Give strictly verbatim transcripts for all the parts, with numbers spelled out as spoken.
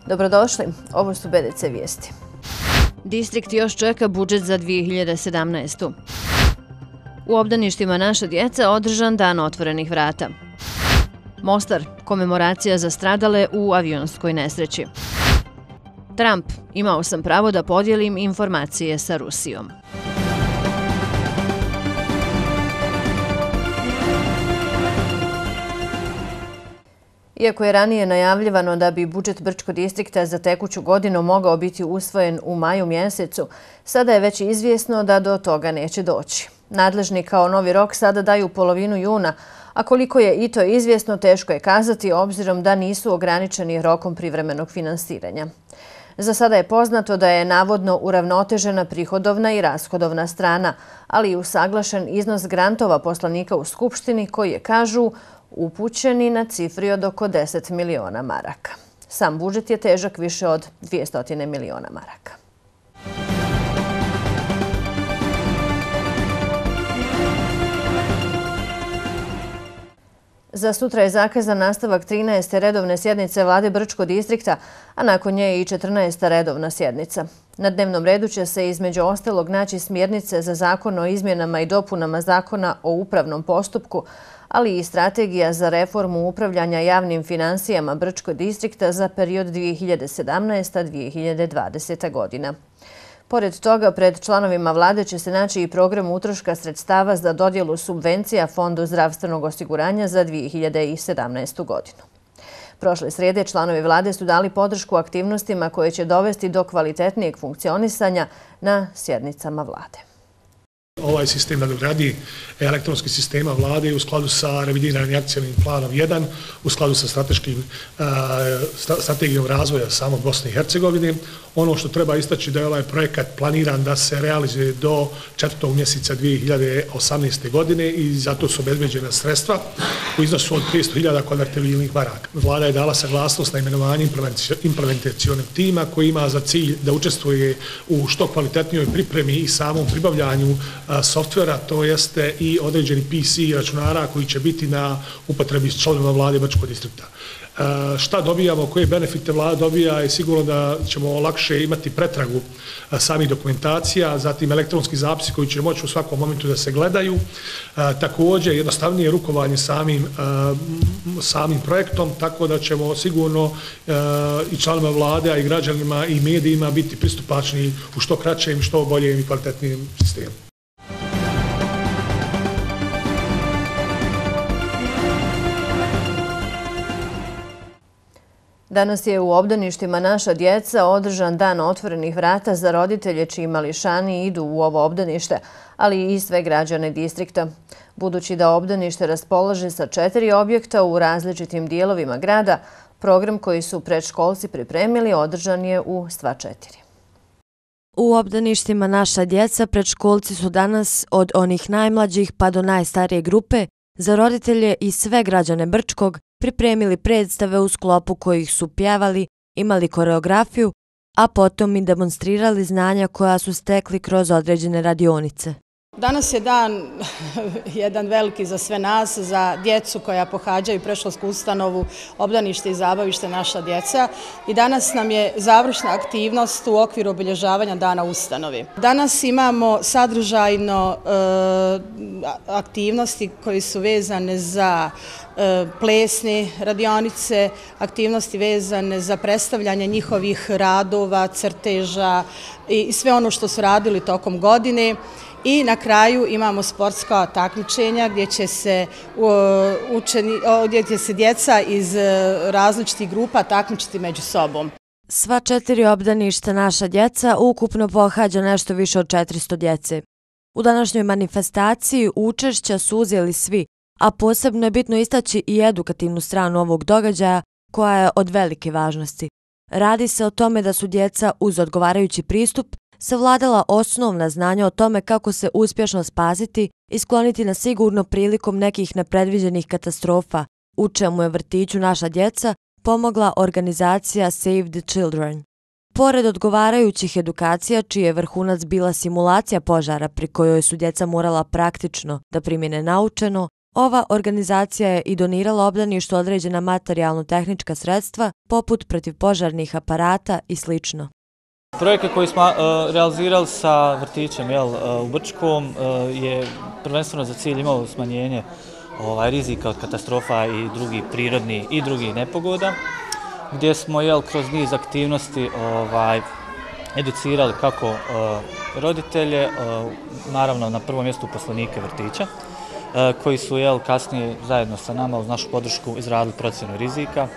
Dobrodošli, ovo su B D C vijesti. Distrikt još čeka budžet za dvije hiljade sedamnaestu. U obdaništima Naša djeca održan dan otvorenih vrata. Mostar, komemoracija za stradale u avionskoj nesreći. Trump, imao sam pravo da podijelim informacije sa Rusijom. Iako je ranije najavljivano da bi budžet Brčkog distrikta za tekuću godinu mogao biti usvojen u maju mjesecu, sada je već izvjesno da do toga neće doći. Nadležni kao novi rok sada daju polovinu juna, a koliko je i to izvjesno teško je kazati obzirom da nisu ograničeni rokom privremenog finansiranja. Za sada je poznato da je navodno uravnotežena prihodovna i rashodovna strana, ali i usaglašen iznos grantova poslanika u Skupštini koji je, kažu, upućeni na cifri od oko deset miliona maraka. Sam budžet je težak više od dvjesto miliona maraka. Za sutra je zakazan nastavak trinaeste redovne sjednice Vlade Brčkog distrikta, a nakon nje i četrnaesta redovna sjednica. Na dnevnom redu će se između ostalog naći smjernice za zakon o izmjenama i dopunama zakona o upravnom postupku, ali i strategija za reformu upravljanja javnim finansijama Brčkog distrikta za period dvije hiljade sedamnaesta do dvije hiljade dvadesete. godina. Pored toga, pred članovima vlade će se naći i program utroška sredstava za dodjelu subvencija Fondu zdravstvenog osiguranja za dvije hiljade sedamnaestu. godinu. Prošle srijede članovi vlade su dali podršku aktivnostima koje će dovesti do kvalitetnijeg funkcionisanja na sjednicama vlade. Ovaj sistem nadogradi elektronskih sistema vlade u skladu sa revidiranim akcijnim planom jedan, u skladu sa strateškim, strategijom razvoja samog Bosne i Hercegovine. Ono što treba istaći da je ovaj projekat planiran da se realizuje do četvrtog mjeseca dvije hiljade osamnaeste. godine i zato su obezbeđena sredstva u iznosu od petsto hiljada konvertibilnih maraka. Vlada je dala saglasnost na imenovanje implementacionog tima koji ima za cilj da učestvuje u što kvalitetnijoj pripremi i samom pribavljanju softvera, to jeste i određeni P C računara koji će biti na upotrebi s članovima vlade Brčkog distrikta. Šta dobijamo, koje benefite vlada dobija je sigurno da ćemo lakše imati pretragu samih dokumentacija, zatim elektronski zapisi koji će moći u svakom momentu da se gledaju. Također jednostavnije rukovanje samim, samim projektom, tako da ćemo sigurno i članovima vlade, a i građanima i medijima biti pristupačni u što kraćem, što boljem i kvalitetnijem sistemu. Danas je u obdaništima Naša djeca održan dan otvorenih vrata za roditelje čiji mališani idu u ovo obdanište, ali i sve građane distrikta. Budući da obdanište raspolaže sa četiri objekta u različitim dijelovima grada, program koji su predškolci pripremili održan je u sva četiri. U obdaništima Naša djeca predškolci su danas od onih najmlađih pa do najstarije grupe za roditelje i sve građane Brčkog pripremili predstave u sklopu kojih su pjevali, imali koreografiju, a potom i demonstrirali znanja koja su stekli kroz određene radionice. Danas je dan jedan veliki za sve nas, za djecu koja pohađaju predškolsku ustanovu, obdanište i zabavište Naša djeca. I danas nam je završna aktivnost u okviru obilježavanja dana ustanovi. Danas imamo sadržajno e, aktivnosti koji su vezane za e, plesne radionice, aktivnosti vezane za predstavljanje njihovih radova, crteža i sve ono što su radili tokom godine. I na kraju imamo sportska takmičenja gdje će se, učeni, gdje će se djeca iz različitih grupa takmičiti među sobom. Sva četiri obdaništa Naša djeca ukupno pohađa nešto više od četiristo djece. U današnjoj manifestaciji učešća su uzeli svi, a posebno je bitno istaći i edukativnu stranu ovog događaja koja je od velike važnosti. Radi se o tome da su djeca uz odgovarajući pristup savladala osnovna znanja o tome kako se uspješno spasiti i skloniti na sigurno prilikom nekih nepredviđenih katastrofa, u čemu je vrtiću Naša djeca pomogla organizacija Save the Children. Pored odgovarajućih edukacija, čiji je vrhunac bila simulacija požara pri kojoj su djeca morala praktično da primjene naučeno, Ova organizacija je i donirala obdaništu određena materijalno-tehnička sredstva, poput protivpožarnih aparata i slično. Projekat koji smo realizirali sa vrtićem u Brčkom je prvenstveno za cilj imao smanjenje rizika od katastrofa i drugih prirodnih i drugih nepogoda, gdje smo kroz niz aktivnosti educirali kako roditelje, naravno na prvom mjestu uposlenike vrtića, koji su kasnije zajedno sa nama uz našu podršku izradili procjenu rizika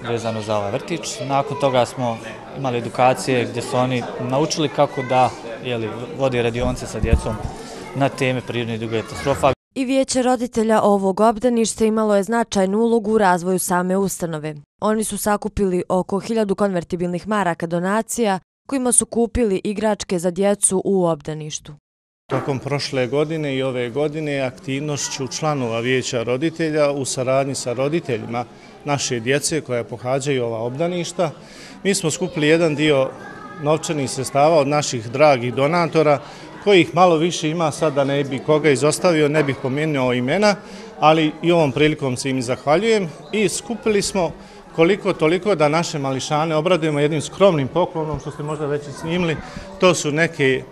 vezano za ovaj vrtić. Nakon toga smo imali edukacije gdje su oni naučili kako da vodi radionice sa djecom na teme prirodnih i drugih katastrofa. I vijeće roditelja ovog obdaništa imalo je značajnu ulogu u razvoju same ustanove. Oni su sakupili oko hiljadu konvertibilnih maraka donacija kojima su kupili igračke za djecu u obdaništu. Tokom prošle godine i ove godine aktivnošću članova vijeća roditelja u saradnji sa roditeljima naše djece koja pohađaju ova obdaništa, mi smo skupili jedan dio novčanih sredstava od naših dragih donatora, kojih malo više ima, sad da ne bi koga izostavio, ne bih pomenuo imena, ali i ovom prilikom se im zahvaljujem i skupili smo koliko toliko da naše mališane obradujemo jednim skromnim poklonom, što ste možda već i snimili. To su neke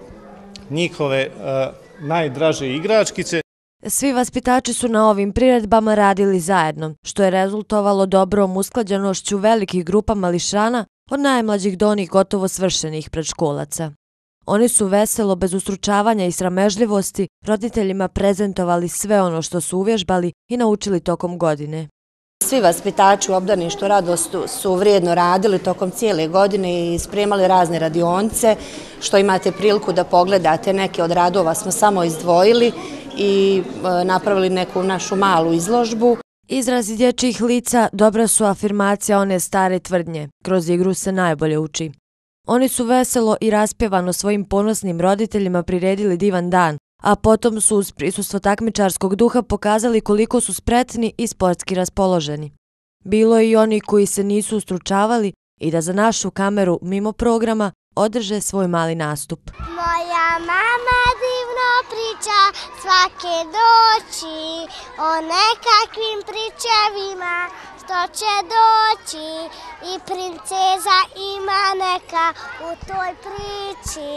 njihove najdraže igračkice. Svi vaspitači su na ovim priredbama radili zajedno, što je rezultovalo dobrom usklađenošću velikih grupa mališana od najmlađih do onih gotovo svršenih predškolaca. Oni su veselo, bez ustručavanja i sramežljivosti, roditeljima prezentovali sve ono što su uvježbali i naučili tokom godine. Svi vaspitači u obdaništu Radostu su vrijedno radili tokom cijele godine i spremali razne radionice, što imate priliku da pogledate. Neke od radova smo samo izdvojili i napravili neku našu malu izložbu. Izrazi dječjih lica dobra su afirmacija one stare tvrdnje. Kroz igru se najbolje uči. Oni su veselo i raspjevano svojim ponosnim roditeljima priredili divan dan, a potom su uz prisustvo takmičarskog duha pokazali koliko su spretni i sportski raspoloženi. Bilo je i oni koji se nisu ustručavali i da za našu kameru mimo programa održe svoj mali nastup. Moja mama divno priča svake doći o nekakvim pričevima što će doći i princeza ima neka u toj priči.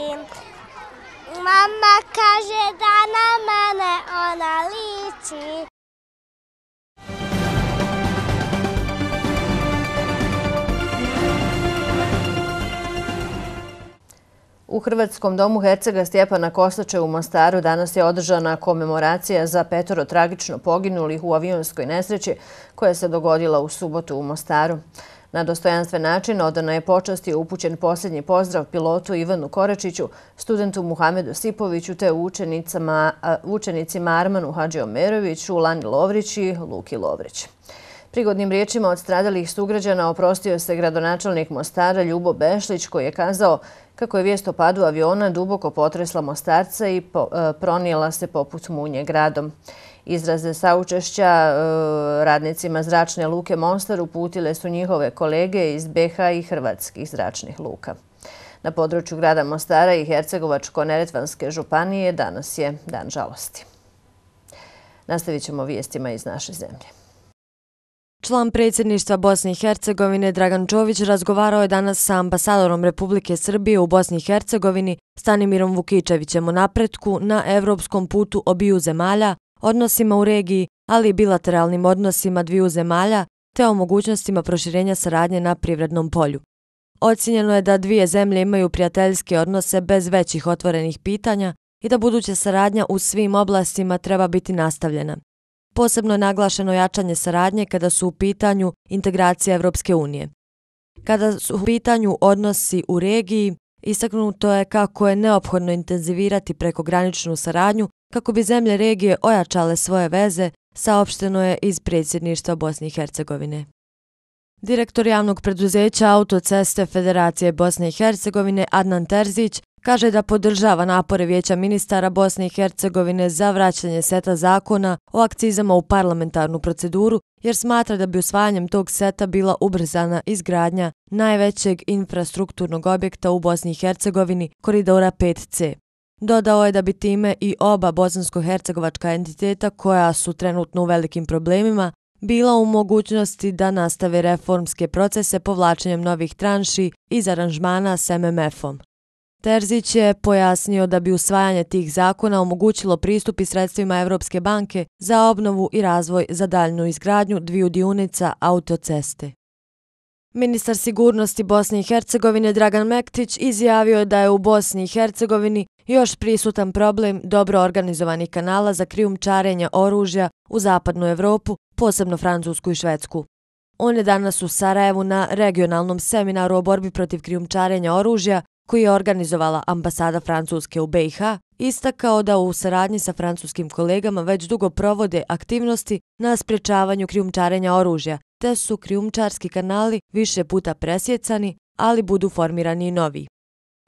Mama kaže da na mene ona liči. U Hrvatskom domu hercega Stjepana Kosače u Mostaru danas je održana komemoracija za petoro tragično poginulih u avionskoj nesreći koja se dogodila u subotu u Mostaru. Na dostojanstven način odana je počast i upućen posljednji pozdrav pilotu Ivanu Koračiću, studentu Muhamedu Sipoviću te učenicima Armanu Hadžiomeroviću, Lani Lovrić i Luki Lovrić. Prigodnim riječima od stradalih sugrađana oprostio se gradonačelnik Mostara Ljubo Bešlić, koji je kazao kako je vijest o padu aviona duboko potresla Mostarca i pronijela se poput munje gradom. Izraze saučešća radnicima zračne luke Mostar uputile su njihove kolege iz be ha i hrvatskih zračnih luka. Na području grada Mostara i Hercegovačko-neretvanske županije danas je dan žalosti. Nastavit ćemo vijestima iz naše zemlje. Član predsjedništva Bosne i Hercegovine Dragan Čović razgovarao je danas sa ambasadorom Republike Srbije u Bosni i Hercegovini Stanimirom Vukičevićem o napretku na evropskom putu obiju zemalja, odnosima u regiji, ali i bilateralnim odnosima dviju zemalja, te o mogućnostima proširenja saradnje na privrednom polju. Ocijenjeno je da dvije zemlje imaju prijateljske odnose bez većih otvorenih pitanja i da buduća saradnja u svim oblastima treba biti nastavljena. Posebno je naglašeno jačanje saradnje kada su u pitanju integracije Evropske unije. Kada su u pitanju odnosi u regiji, istaknuto je kako je neophodno intenzivirati prekograničnu saradnju kako bi zemlje regije ojačale svoje veze, saopšteno je iz predsjedništva Bosne i Hercegovine. Direktor javnog preduzeća Autoceste Federacije Bosne i Hercegovine Adnan Terzić kaže da podržava napore Vijeća ministara Bosne i Hercegovine za vraćanje seta zakona o akcizama u parlamentarnu proceduru, jer smatra da bi usvajanjem tog seta bila ubrzana izgradnja najvećeg infrastrukturnog objekta u Bosni i Hercegovini, koridora pet ce. Dodao je da bi time i oba bosansko-hercegovačka entiteta koja su trenutno u velikim problemima bila u mogućnosti da nastave reformske procese povlačenjem novih tranši iz aranžmana s M M F-om. Terzić je pojasnio da bi usvajanje tih zakona omogućilo pristup i sredstvima Evropske banke za obnovu i razvoj za daljnu izgradnju dviju dionica autoceste. Ministar sigurnosti Bosne i Hercegovine Dragan Mektić izjavio je da je u Bosni i Hercegovini još prisutan problem dobro organizovanih kanala za krijumčarenje oružja u zapadnu Evropu, posebno Francusku i Švedsku. On je danas u Sarajevu na regionalnom seminaru o borbi protiv krijumčarenja oružja koji je organizovala ambasada Francuske u B i H, istakao da u saradnji sa francuskim kolegama već dugo provode aktivnosti na sprječavanju krijumčarenja oružja, te su krijumčarski kanali više puta presjecani, ali budu formirani i novi.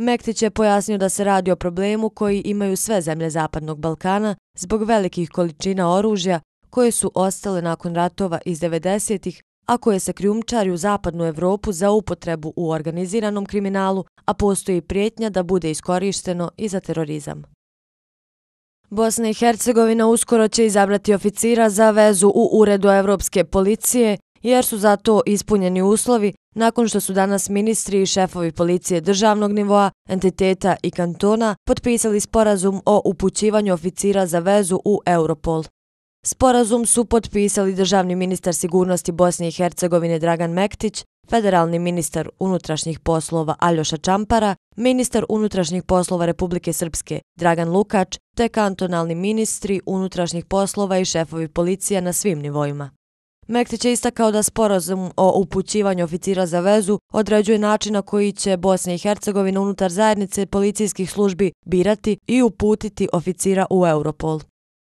Mektić je pojasnio da se radi o problemu koji imaju sve zemlje Zapadnog Balkana zbog velikih količina oružja koje su ostale nakon ratova iz devedesetih, a koje se krijumčari u Zapadnu Evropu za upotrebu u organiziranom kriminalu, a postoji prijetnja da bude iskorišteno i za terorizam. Bosna i Hercegovina uskoro će izabrati oficira za vezu u Uredu Evropske policije, jer su za to ispunjeni uslovi nakon što su danas ministri i šefovi policije državnog nivoa, entiteta i kantona potpisali sporazum o upućivanju oficira za vezu u Europol. Sporazum su potpisali državni ministar sigurnosti Bosne i Hercegovine Dragan Mektić, federalni ministar unutrašnjih poslova Aljoša Čampara, ministar unutrašnjih poslova Republike Srpske Dragan Lukač, te kantonalni ministri unutrašnjih poslova i šefovi policija na svim nivoima. Mektić je istakao da sporazum o upućivanju oficira za vezu određuje način na koji će Bosna i Hercegovina unutar zajednice policijskih službi birati i uputiti oficira u Europol.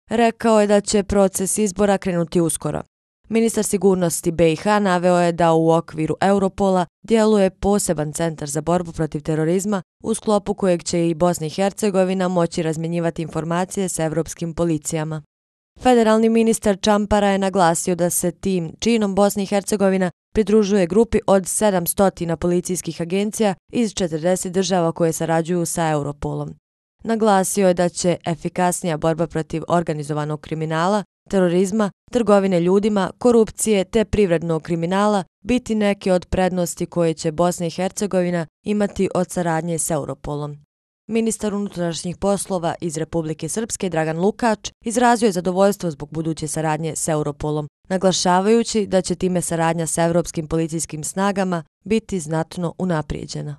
Rekao je da će proces izbora krenuti uskoro. Ministar sigurnosti B i H naveo je da u okviru Europola djeluje poseban centar za borbu protiv terorizma u sklopu kojeg će i Bosna i Hercegovina moći razmjenjivati informacije s evropskim policijama. Federalni ministar Čampara je naglasio da se tim činom Bosna i Hercegovina pridružuje grupi od sedamsto policijskih agencija iz četrdeset država koje sarađuju sa Europolom. Naglasio je da će efikasnija borba protiv organizovanog kriminala, terorizma, trgovine ljudima, korupcije te privrednog kriminala biti neke od prednosti koje će Bosna i Hercegovina imati od saradnje s Europolom. Ministar unutrašnjih poslova iz Republike Srpske Dragan Lukač izrazio je zadovoljstvo zbog buduće saradnje s Europolom, naglašavajući da će time saradnja s evropskim policijskim snagama biti znatno unaprijeđena.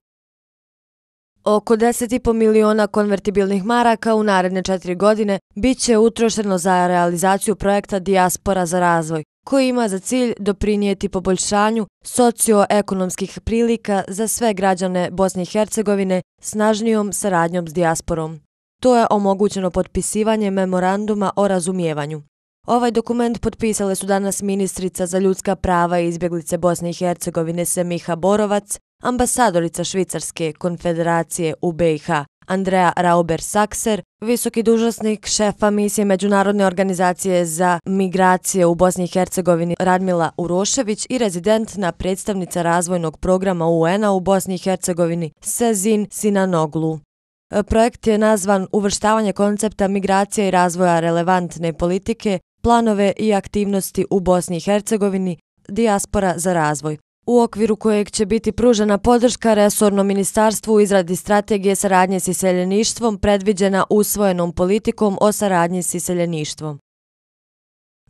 Oko deset i po miliona konvertibilnih maraka u naredne četiri godine bit će utrošeno za realizaciju projekta Dijaspora za razvoj, koji ima za cilj doprinijeti poboljšanju socioekonomskih prilika za sve građane Bosne i Hercegovine snažnijom saradnjom s dijasporom. To je omogućeno potpisivanje memoranduma o razumijevanju. Ovaj dokument potpisale su danas ministrica za ljudska prava i izbjeglice Bosne i Hercegovine Semiha Borovac, ambasadorica Švicarske konfederacije u B i H Andrea Rauber-Sakser, visoki dužnosnik šefa misije Međunarodne organizacije za migracije u Bosni i Hercegovini Radmila Urošević i rezidentna predstavnica razvojnog programa U N-a u Bosni i Hercegovini Sezin Sinanoglu. Projekt je nazvan Uvrštavanje koncepta migracija i razvoja relevantne politike, planove i aktivnosti u Bosni i Hercegovini, Dijaspora za razvoj, u okviru kojeg će biti pružena podrška resornom ministarstvu u izradi strategije saradnje s iseljeništvom predviđena usvojenom politikom o saradnji s iseljeništvom.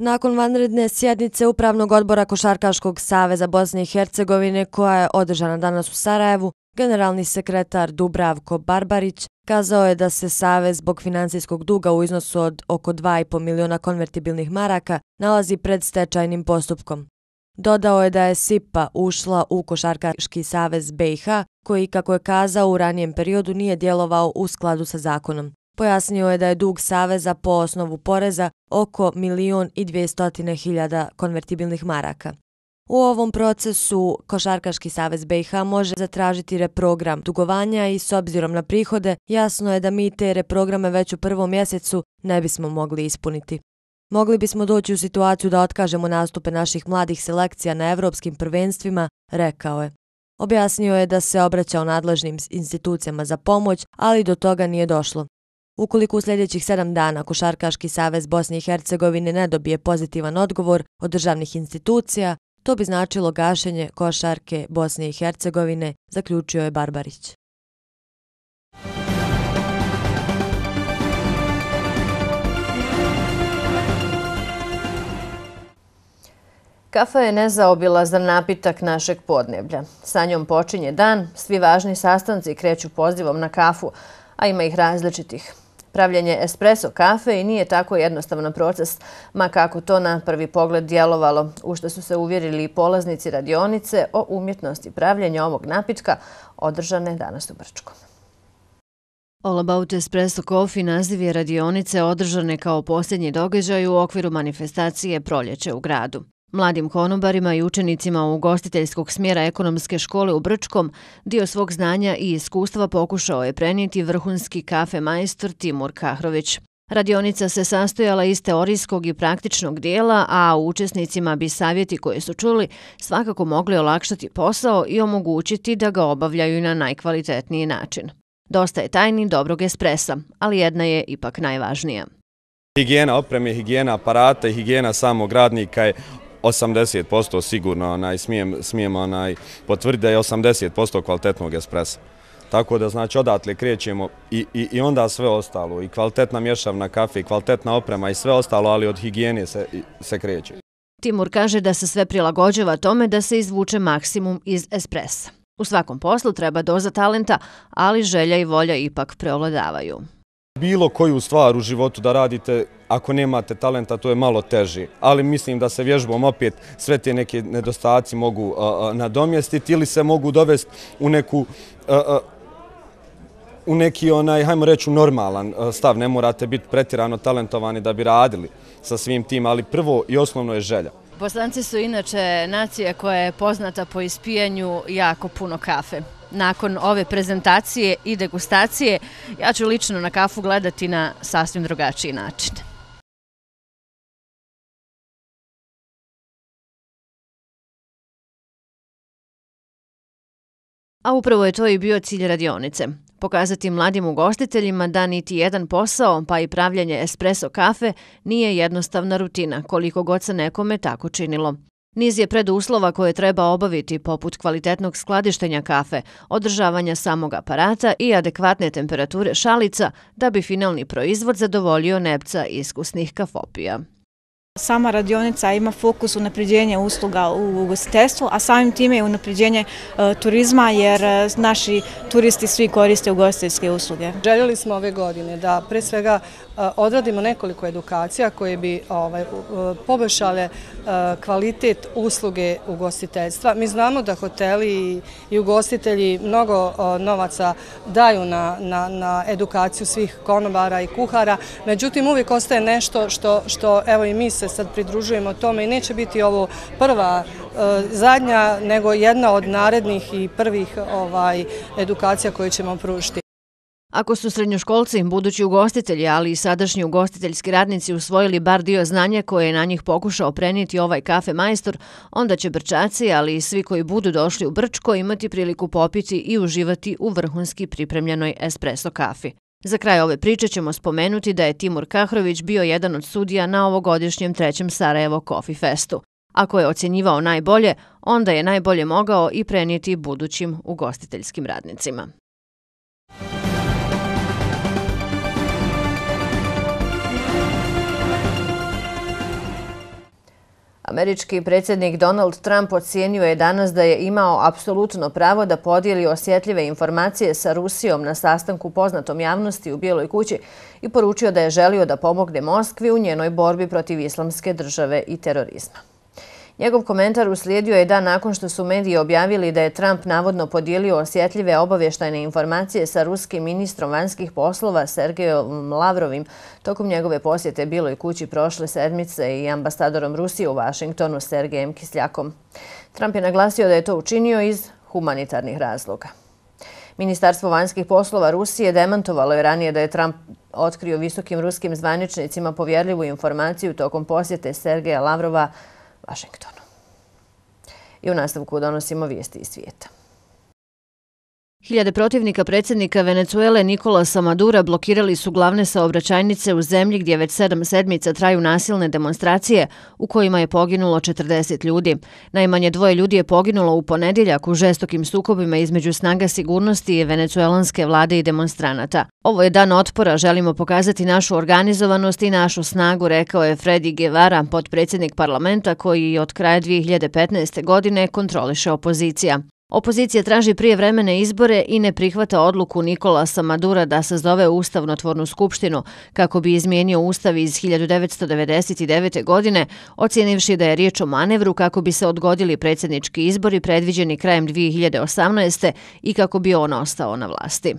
Nakon vanredne sjednice Upravnog odbora Košarkaškog saveza Bosne i Hercegovine koja je održana danas u Sarajevu, generalni sekretar Dubravko Barbarić kazao je da se savez zbog finansijskog duga u iznosu od oko dva i po miliona konvertibilnih maraka nalazi pred stečajnim postupkom. Dodao je da je S I P A ušla u Košarkaški savez B i H, koji, kako je kazao, u ranijem periodu nije djelovao u skladu sa zakonom. Pojasnio je da je dug saveza po osnovu poreza oko milion i dvjestotine hiljada konvertibilnih maraka. U ovom procesu Košarkaški savez B i H može zatražiti reprogram dugovanja i s obzirom na prihode, jasno je da mi te reprograme već u prvom mjesecu ne bismo mogli ispuniti. Mogli bismo doći u situaciju da otkažemo nastupe naših mladih selekcija na evropskim prvenstvima, rekao je. Objasnio je da se obraćao nadležnim institucijama za pomoć, ali do toga nije došlo. Ukoliko u sljedećih sedam dana Košarkaški savez Bosne i Hercegovine ne dobije pozitivan odgovor od državnih institucija, to bi značilo gašenje košarke Bosne i Hercegovine, zaključio je Barbarić. Kafa je nezaobilazan napitak našeg podneblja. Sa njom počinje dan, svi važni sastanci kreću pozivom na kafu, a ima ih različitih. Pravljenje espresso kafe i nije tako jednostavan proces, ma kako to na prvi pogled djelovalo, u što su se uvjerili i polaznici radionice o umjetnosti pravljenja ovog napitka, održane danas u Brčkom. All About Espresso Coffee naziv je radionice održane kao posljednji događaj u okviru manifestacije Proljeće u gradu. Mladim konobarima i učenicima ugostiteljskog smjera ekonomske škole u Brčkom dio svog znanja i iskustva pokušao je prenijeti vrhunski kafe majstor Timur Kahrović. Radionica se sastojala iz teorijskog i praktičnog dijela, a učesnicima bi savjeti koje su čuli svakako mogli olakšati posao i omogućiti da ga obavljaju na najkvalitetniji način. Dosta je tajni dobrog espresa, ali jedna je ipak najvažnija. Higijena opreme, higijena aparata i higijena samog radnika je osamdeset posto sigurno, onaj, smijem, smijem onaj, potvrditi da je osamdeset posto kvalitetnog espresa. Tako da znači odatle krećemo i, i, i onda sve ostalo, i kvalitetna mješavna kafe, i kvalitetna oprema i sve ostalo, ali od higijene se, se kreće. Timur kaže da se sve prilagođava tome da se izvuče maksimum iz espresa. U svakom poslu treba doza talenta, ali želja i volja ipak preovladavaju. Bilo koju stvar u životu da radite, ako nemate talenta, to je malo teže. Ali mislim da se vježbom opet sve te neke nedostaci mogu uh, uh, nadomjestiti ili se mogu dovesti u neku... Uh, uh, u neki, onaj, hajmo reći, normalan stav. Ne morate biti pretjerano talentovani da bi radili sa svim tim, ali prvo i osnovno je želja. Bosanci su inače nacija koja je poznata po ispijanju jako puno kafe. Nakon ove prezentacije i degustacije, ja ću lično na kafu gledati na sasvim drugačiji način. A upravo je to i bio cilj radionice. Pokazati mladim ugostiteljima da niti jedan posao, pa i pravljanje espresso kafe, nije jednostavna rutina, koliko god se nekome tako činilo. Niz je preduslova koje treba obaviti, poput kvalitetnog skladištenja kafe, održavanja samog aparata i adekvatne temperature šalica, da bi finalni proizvod zadovoljio nepca iskusnih kafopija. Sama radionica ima fokus unapređenja usluga u ugostiteljstvu, a samim time i unapređenje e, turizma, jer e, naši turisti svi koriste ugostiteljske usluge. Željeli smo ove godine da pre svega e, odradimo nekoliko edukacija koje bi ovaj, poboljšale e, kvalitet usluge ugostiteljstva. Mi znamo da hoteli i, i ugostitelji mnogo e, novaca daju na, na, na edukaciju svih konobara i kuhara, međutim uvijek ostaje nešto što, što evo i mi se sad pridružujemo tome i neće biti ovo prva zadnja, nego jedna od narednih i prvih ovaj, edukacija koje ćemo pružiti. Ako su srednjoškolci, budući ugostitelji, ali i sadašnji ugostiteljski radnici usvojili bar dio znanja koje je na njih pokušao prenijeti ovaj kafe majstor, onda će Brčaci, ali i svi koji budu došli u Brčko, imati priliku popiti i uživati u vrhunski pripremljenoj espresso kafi. Za kraj ove priče ćemo spomenuti da je Timur Kahrović bio jedan od sudija na ovogodišnjem trećem Sarajevo Coffee Festu. Ako je ocjenjivao najbolje, onda je najbolje mogao i prenijeti budućim ugostiteljskim radnicima. Američki predsjednik Donald Trump ocijenio je danas da je imao apsolutno pravo da podijeli osjetljive informacije sa Rusijom na sastanku poznatom javnosti u Bijeloj kući i poručio da je želio da pomogne Moskvi u njenoj borbi protiv islamske države i terorizma. Njegov komentar uslijedio je dan nakon što su mediji objavili da je Trump navodno podijelio osjetljive obavještajne informacije sa ruskim ministrom vanjskih poslova Sergejom Lavrovim tokom njegove posjete Bijeloj kući prošle sedmice i ambasadorom Rusije u Vašingtonu Sergejem Kisljakom. Trump je naglasio da je to učinio iz humanitarnih razloga. Ministarstvo vanjskih poslova Rusije demantovalo je ranije da je Trump otkrio visokim ruskim zvaničnicima povjerljivu informaciju tokom posjete Sergeja Lavrova Vašingtonu. I u nastavku donosimo vijesti iz svijeta. Hiljade protivnika predsjednika Venecuele Nicolasa Madura blokirali su glavne saobraćajnice u zemlji gdje već sedam sedmica traju nasilne demonstracije u kojima je poginulo četrdeset ljudi. Najmanje dvoje ljudi je poginulo u ponedjeljak u žestokim sukobima između snaga sigurnosti i venecuelanske vlade i demonstranata. Ovo je dan otpora, želimo pokazati našu organizovanost i našu snagu, rekao je Freddy Guevara, potpredsjednik parlamenta koji od kraja dvije hiljade petnaeste. godine kontroliše opozicija. Opozicija traži prijevremene izbore i ne prihvata odluku Nicolasa Madura da sazove ustavnotvornu skupštinu kako bi izmijenio ustav iz hiljadu devetsto devedeset devete. godine, ocijenivši da je riječ o manevru kako bi se odgodili predsjednički izbori predviđeni krajem dvije hiljade osamnaeste. i kako bi on ostao na vlasti.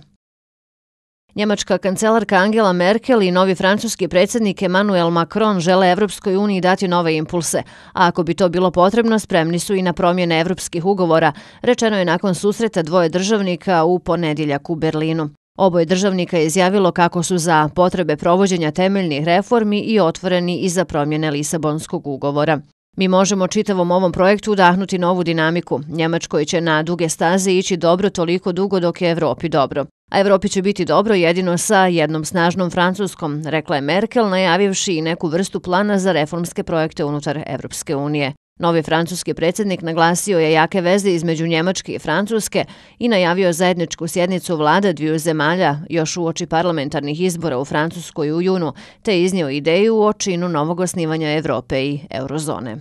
Njemačka kancelarka Angela Merkel i novi francuski predsjednik Emmanuel Macron žele Evropskoj uniji dati nove impulse, a ako bi to bilo potrebno, spremni su i na promjene evropskih ugovora, rečeno je nakon susreta dvoje državnika u ponedjeljak u Berlinu. Oboje državnika je izjavilo kako su za potrebe provođenja temeljnih reformi i otvoreni i za promjene Lisabonskog ugovora. Mi možemo čitavom ovom projektu udahnuti novu dinamiku. Njemačkoj će na duge staze ići dobro toliko dugo dok je Evropi dobro. A Evropi će biti dobro jedino sa jednom snažnom Francuskom, rekla je Merkel, najavivši i neku vrstu plana za reformske projekte unutar Evropske unije. Novi francuski predsjednik naglasio je jake veze između Njemačke i Francuske i najavio zajedničku sjednicu vlada dviju zemalja još uoči parlamentarnih izbora u Francuskoj u junu, te iznio ideju o činu novog osnivanja Evrope i eurozone.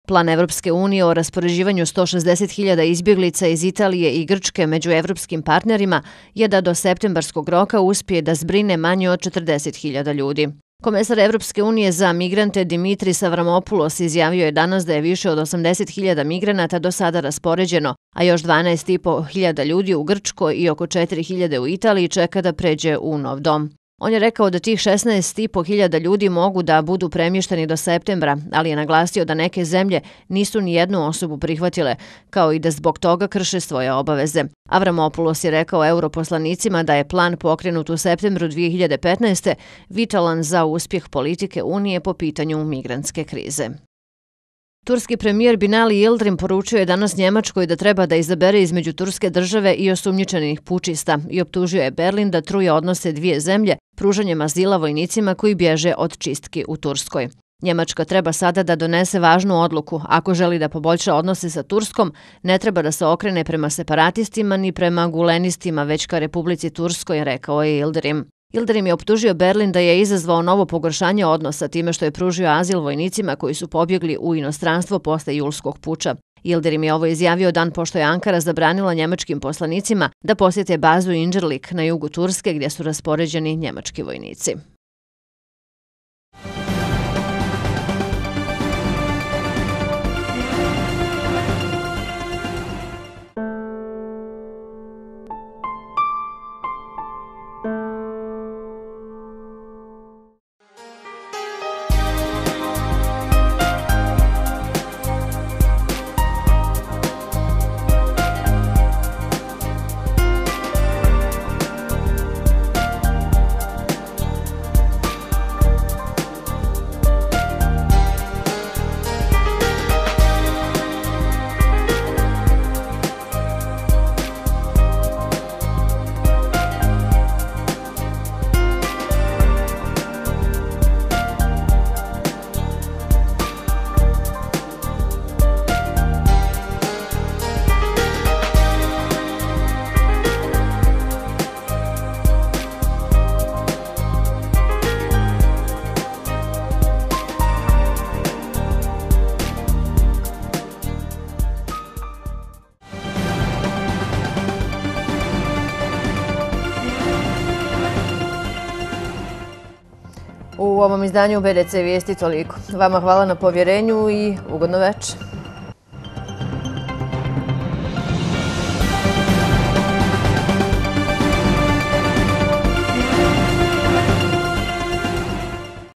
Plan Evropske unije o raspoređivanju sto šezdeset hiljada izbjeglica iz Italije i Grčke među evropskim partnerima je da do septembarskog roka uspije da zbrine manje od četrdeset hiljada ljudi. Komesar Evropske unije za migrante Dimitris Avramopoulos izjavio je danas da je više od osamdeset hiljada migranata do sada raspoređeno, a još dvanaest i po hiljada ljudi u Grčkoj i oko četiri hiljade u Italiji čeka da pređe u nov dom. On je rekao da tih šesnaest i po hiljada ljudi mogu da budu premješteni do septembra, ali je naglasio da neke zemlje nisu ni jednu osobu prihvatile, kao i da zbog toga krše svoje obaveze. Avramopoulos je rekao europoslanicima da je plan pokrenut u septembru dvije hiljade petnaeste. vitalan za uspjeh politike Unije po pitanju migrantske krize. Turski premijer Binali Yildirim poručio je danas Njemačkoj da treba da izabere između Turske države i osumnjičenih pučista i optužio je Berlin da truje odnose dvije zemlje pružanjem azila vojnicima koji bježe od čistki u Turskoj. Njemačka treba sada da donese važnu odluku. Ako želi da poboljša odnose sa Turskom, ne treba da se okrene prema separatistima ni prema gulenistima, već ka Republici Turskoj, rekao je Yildirim. Yildirim je optužio Berlin da je izazvao novo pogoršanje odnosa time što je pružio azil vojnicima koji su pobjegli u inostranstvo posle julskog puča. Yildirim je ovo izjavio dan pošto je Ankara zabranila njemačkim poslanicima da posjete bazu Incirlik na jugu Turske gdje su raspoređeni njemački vojnici. U ovom izdanju B D C vijesti toliko. Vama hvala na povjerenju i ugodno večer.